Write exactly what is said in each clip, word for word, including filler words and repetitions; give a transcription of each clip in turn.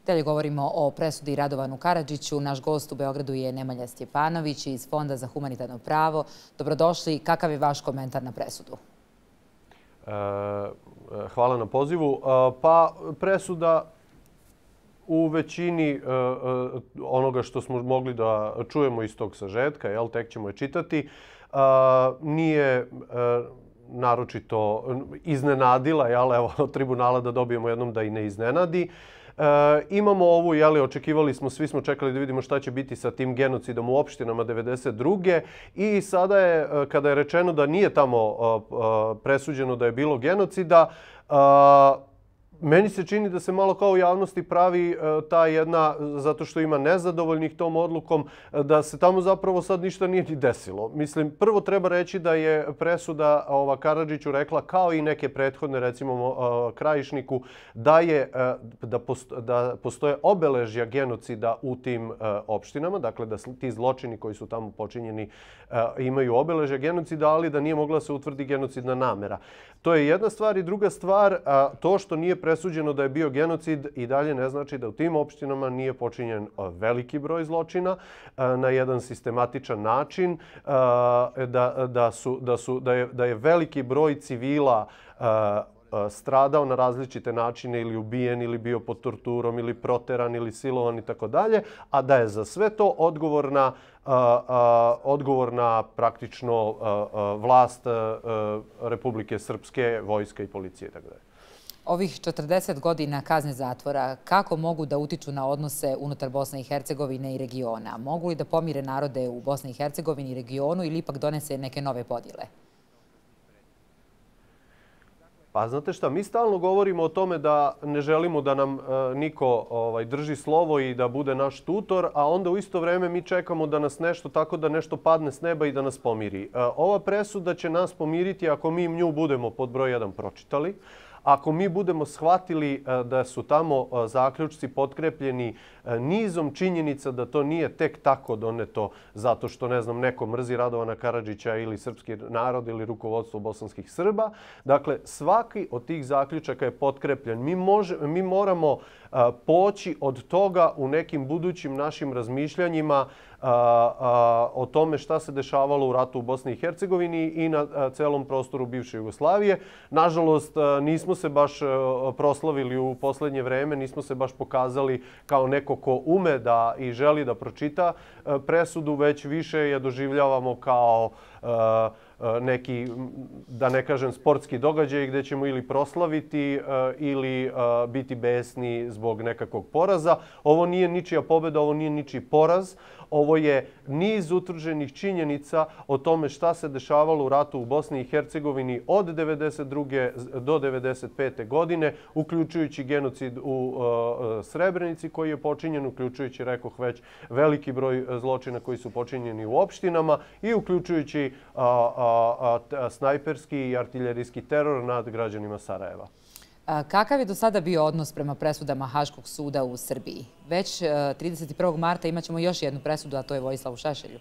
Dalje govorimo o presudi Radovanu Karadžiću. Naš gost u Beogradu je Nemanja Stjepanović iz Fonda za humanitarno pravo. Dobrodošli. Kakav je vaš komentar na presudu? Hvala na pozivu. Pa presuda u većini onoga što smo mogli da čujemo iz tog sažetka, jel, tek ćemo je čitati, nije naročito iznenadila, jel, evo, od tribunala da dobijemo jednom da i ne iznenadi. E, imamo ovu, jeli, očekivali smo, svi smo čekali da vidimo šta će biti sa tim genocidom u opštinama devedeset druge i sada je, kada je rečeno da nije tamo presuđeno da je bilo genocida, meni se čini da se malo kao u javnosti pravi ta jedna, zato što ima nezadovoljnih tom odlukom, da se tamo zapravo sad ništa nije ni desilo. Mislim, prvo treba reći da je presuda ova Karadžiću rekla, kao i neke prethodne, recimo Krajišniku, da, je, da, posto, da postoje obeležja genocida u tim opštinama, dakle da ti zločini koji su tamo počinjeni imaju obeležja genocida, ali da nije mogla se utvrdi genocidna namera. To je jedna stvar i druga stvar, to što nije presuđeno da je bio genocid i dalje ne znači da u tim opštinama nije počinjen veliki broj zločina na jedan sistematičan način, da, da, su, da, su, da, je, da je veliki broj civila stradao na različite načine ili ubijen ili bio pod torturom ili proteran ili silovan i tako dalje, a da je za sve to odgovorna Uh, uh, odgovorna praktično uh, uh, vlast uh, uh, Republike Srpske, vojska i policije i tako dalje. Ovih četrdeset godina kazne zatvora kako mogu da utiču na odnose unutar Bosne i Hercegovine i regiona? Mogu li da pomire narode u Bosni i Hercegovini i regionu ili ipak donese neke nove podjele? Pa znate šta, mi stalno govorimo o tome da ne želimo da nam e, niko ovaj, drži slovo i da bude naš tutor, a onda u isto vrijeme mi čekamo da nas nešto tako da nešto padne s neba i da nas pomiri. E, ova presuda će nas pomiriti ako mi nju budemo pod broj jedan pročitali. Ako mi budemo shvatili da su tamo zaključci potkrepljeni nizom činjenica da to nije tek tako doneto zato što, ne znam, neko mrzi Radovana Karadžića ili srpski narod ili rukovodstvo bosanskih Srba. Dakle, svaki od tih zaključaka je potkrepljen. Mi, može, mi moramo poći od toga u nekim budućim našim razmišljanjima a, a, o tome šta se dešavalo u ratu u Bosni i Hercegovini i na a, celom prostoru bivše Jugoslavije. Nažalost, a, nismo se baš a, proslavili u posljednje vreme, nismo se baš pokazali kao neko ko ume da i želi da pročita a, presudu, već više je doživljavamo kao a, neki, da ne kažem, sportski događaj gdje ćemo ili proslaviti ili biti besni zbog nekakvog poraza. Ovo nije ničija pobjeda, ovo nije ničiji poraz. Ovo je niz utvrđenih činjenica o tome šta se dešavalo u ratu u Bosni i Hercegovini od devedeset druge do devedeset pete godine, uključujući genocid u Srebrenici koji je počinjen, uključujući, rekoh već, veliki broj zločina koji su počinjeni u opštinama i uključujući a, a, a, snajperski i artiljerijski teror nad građanima Sarajeva. Kakav je do sada bio odnos prema presudama Haškog suda u Srbiji? Već trideset prvog marta imat ćemo još jednu presudu, a to je Vojislavu Šešelju.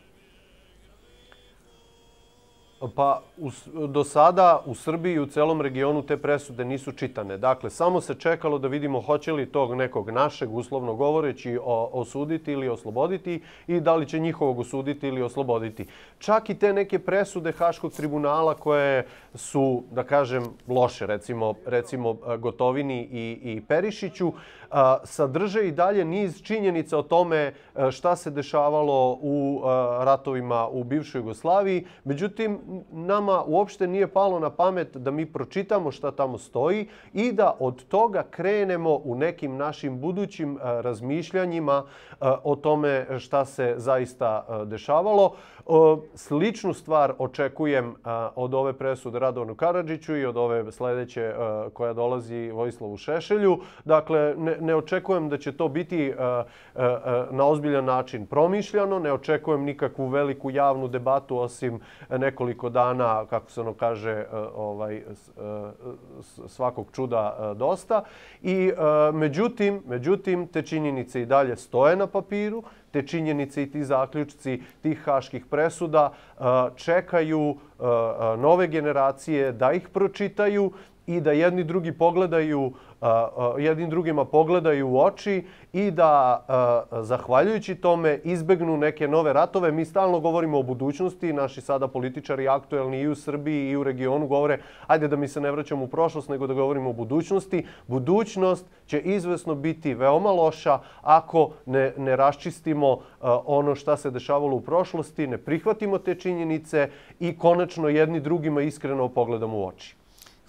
Pa u, do sada u Srbiji i u celom regionu te presude nisu čitane. Dakle, samo se čekalo da vidimo hoće li tog nekog našeg, uslovno govoreći, osuditi ili osloboditi i da li će njihovog osuditi ili osloboditi. Čak i te neke presude Haškog tribunala koje su, da kažem, loše, recimo, recimo Gotovini i, i Perišiću, sadrže i dalje niz činjenica o tome šta se dešavalo u ratovima u bivšoj Jugoslaviji. Međutim, nama uopšte nije palo na pamet da mi pročitamo šta tamo stoji i da od toga krenemo u nekim našim budućim razmišljanjima o tome šta se zaista dešavalo. Sličnu stvar očekujem od ove presude Radovanu Karadžiću i od ove sljedeće koja dolazi Vojislavu Šešelju. Dakle, ne, ne očekujem da će to biti na ozbiljan način promišljano, ne očekujem nikakvu veliku javnu debatu osim nekoliko dana, kako se ono kaže, ovaj, svakog čuda dosta. I međutim, međutim, te činjenice i dalje stoje na papiru. Te činjenice i ti zaključci tih haških presuda čekaju nove generacije da ih pročitaju i da jedni drugi pogledaju, jednim drugima pogledaju u oči i da, zahvaljujući tome, izbegnu neke nove ratove. Mi stalno govorimo o budućnosti. Naši sada političari aktuelni i u Srbiji i u regionu govore ajde da mi se ne vraćamo u prošlost, nego da govorimo o budućnosti. Budućnost će izvesno biti veoma loša ako ne, ne raščistimo ono šta se dešavalo u prošlosti, ne prihvatimo te činjenice i konačno jedni drugima iskreno pogledamo u oči.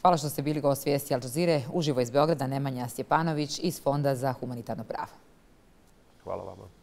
Hvala što ste bili gost vijesti Al Jazeere. Uživo iz Beograda Nemanja Stjepanović iz Fonda za humanitarno pravo. Hvala vama.